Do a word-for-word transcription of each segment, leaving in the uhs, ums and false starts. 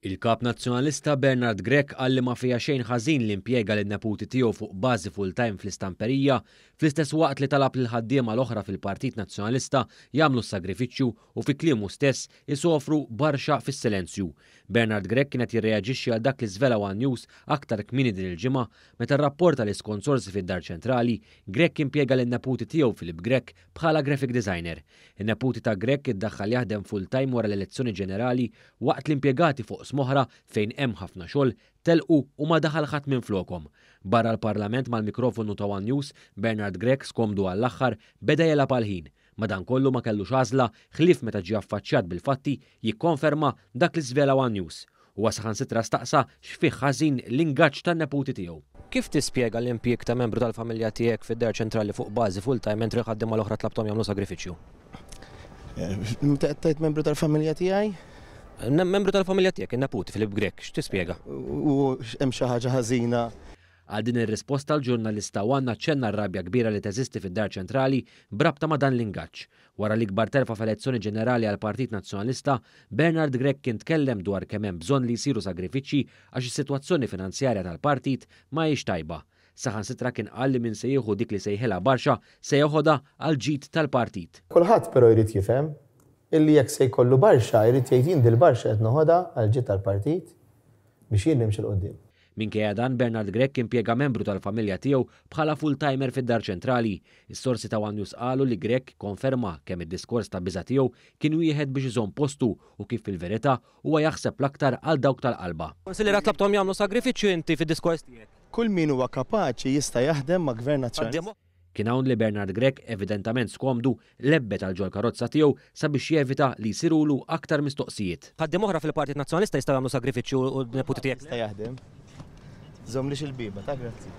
Il-Kap Nazzjonalista Bernard Grech qal li ma fiha xejn ħażin li impjega lin-neputi tiegħu fuq bażi full-time fl-istamperija, fl-istess waqt li talab lill-ħaddiema l-oħra fil-Partit Nazzjonalista jagħmlu s-sagrifiċċju u fi kliemu stess isofru barxa fis-silenzju. Bernard Grech kien qed jirreaġixxi għal dak li żvela one News aktar kmieni din il-ġimgħa meta rrapporta li skont sorsi fid-Dar Ċentrali, Grech impjega lin-neputi tiegħu Philip Grech bħala graphic designer. In-neputi ta' Grech iddaħħal jaħdem full-time wara l-elezzjoni ġenerali waqt l-impjegati fuq oqsma oħra fejn hemm ħafna xogħol telqu u ma daħal ħadd minn flokhom. Barra l-Parlament mal-mikrofonu ta' One News, Bernard Grech skomdu għall-aħħar beda jelgħab għall-ħin. Madankollu ma kellux għażla ħlief meta ġie affaċċjat bil-fatti jikkonferma dak li żvela One News. Huwa saħansitra staqsa x'fih ħażin l-ingaġġ tan-neputi tiegħu. Kif tispjega l-impjieg ta' membru tal-familja tiegħek fid-Dar Ċentrali fuq bażi full-time mentri l-ħaddiema l-oħra tlabthom jagħmlu sagrifiċċju? Tgħid membru tal-familja tiegħi? Membru tal-familja tiegħek, in-neputi Philip Grech, x'tispjega? U hemm xi ħaġa ħażina. Għal din ir-risposta l-ġurnalista One ċenna r-rabja kbira li teżisti fid-Dar Ċentrali b'rabta ma' dan l-ingaġġ. Wara l-ikbar telfa f'elezzjoni ġenerali għal Partit Nazzjonalista, Bernard Grech kien tkellem dwar kemm hemm bżonn li jsiru sagrifiċċji għax is-sitwazzjoni finanzjarja tal-partit ma hijiex tajba. Saħansitra kien qal li min se jieħu dik li sejħilha barxa se jeħodha għal ġid tal-partit. Kulħadd però jrid jifhem illi jekk se jkollu barxa jrid jgħid jien dil-barxa qed noħodha għal ġid tal-partit biex jien nimxi 'l quddiem. Minkejja dan Bernard Grech impjega membru tal-familja tiegħu bħala full-timer fid-Dar Ċentrali. Is-sorsi ta' One News qalu li Grech konferma kemm id-diskors ta' biża' tiegħu kien wieħed biex iżomm postu u kif fil-verità huwa jaħseb l-aktar għal dawk tal-qalba. Konsiljerat tlabthom jagħmlu sagrifiċċju inti fid-diskors tiegħek. Kull min huwa kapaċi jista' jaħdem ma' Gvern Nazzjonalista. Kien hawn li Bernard Grech evidentament skomdu lebbet għal ġol karozza tiegħu sabiex jevita li jsirulu aktar mistoqsijiet. Ħaddiem oħra fil-Partit Nazzjonalista jistgħu jagħmlu sagrifiċċju u n-neputi tiegħek. Jista' jaħdem. Żommlix il-bieba, ta' grazzi.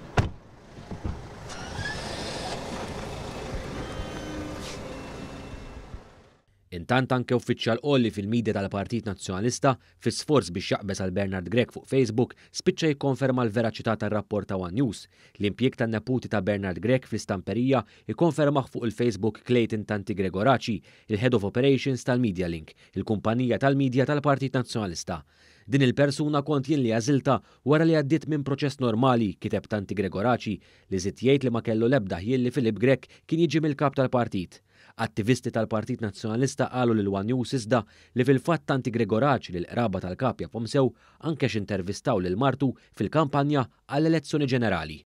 Intant anke uffiċjal għoli fil-midja tal-Partit Nazzjonalista fi sforz biex jaqbeż għal Bernard Grech fuq Facebook spiċċa jikkonferma l-veraċità tar-rapport ta' One News. L-impjieg tan-neputi ta' Bernard Grech fl-istamperija ikkonfermah fuq il-Facebook Clayton Tanti Gregoraci, il-Head of Operations tal-Media Link, il-kumpanija tal-midja tal-Partit Nazzjonalista. Din il-persuna kont jien li għażilta wara li għaddiet minn proċess normali, kiteb Tanti Gregoraci, li żied jgħid li ma kellu l-ebda ħjiel li Philip Grech kien jiġi mill-kap tal-partit. Attivisti tal-Partit Nazzjonalista qalu lil One News iżda li fil-fatt Tanti Gregoraci li l-qraba tal-kap jafhom sew anke x'intervistaw lil martu fil-kampanja għall-elezzjoni ġenerali.